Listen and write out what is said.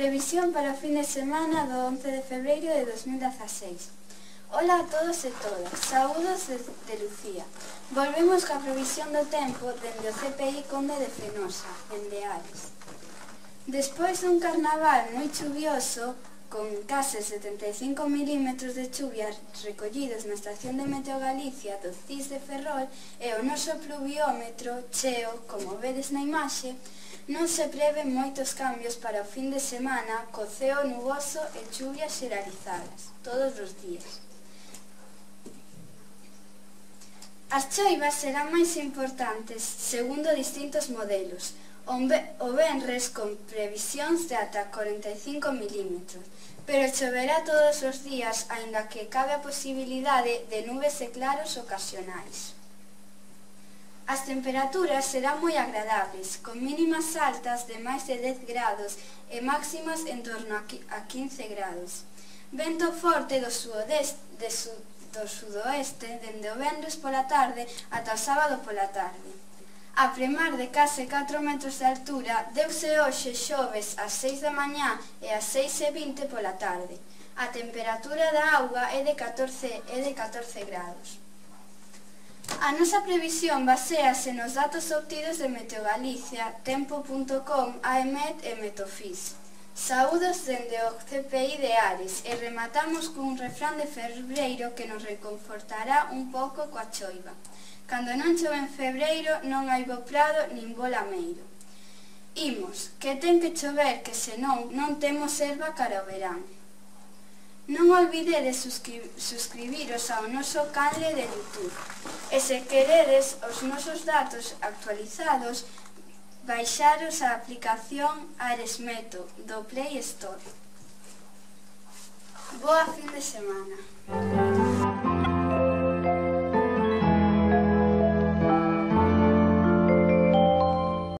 Previsión para o fin de semana do 11 de febreiro de 2016. Ola a todos e todas, saúdos de Lucía. Volvemos coa previsión do tempo dende o CPI Conde de Fenosa, en Ares. Despois dun carnaval moi chuvioso, con case 75 milímetros de chuvia recollidos na estación de Meteo Galicia do CIS de Ferrol e o noso pluviómetro cheo, como vedes na imaxe, non se preven moitos cambios para o fin de semana co ceo nuboso e chuvias xeralizadas, todos os días. As choivas serán máis importantes segundo distintos modelos. O venres con previsións de ata 45 milímetros, pero choverá todos os días, aínda que cabe a posibilidade de nubes e claros ocasionais. As temperaturas serán moi agradables, con mínimas altas de máis de 10 grados e máximas en torno a 15 grados. Vento forte do sudoeste dende o venres pola tarde ata o sábado pola tarde. A premar de case 4 metros de altura, deuse hoxe xoves ás 6 da mañá e ás 6:20 pola tarde. A temperatura da auga é de 14 grados. A nosa previsión baséase nos datos obtidos de Meteo Galicia, tempo.com, AEMET e Metofis. Saúdos dende o CPI de Ares e rematamos cun refrán de febreiro que nos reconfortará un pouco coa choiva. Cando non chove en febreiro non hai bo prado nin bo lameiro. Imos, que ten que chover, que senón non temos erva cara ao verán. Non olvidedes suscribiros ao noso canle de YouTube e se queredes os nosos datos actualizados, baixaros a aplicación Aresmeto do Play Store. Boa fin de semana.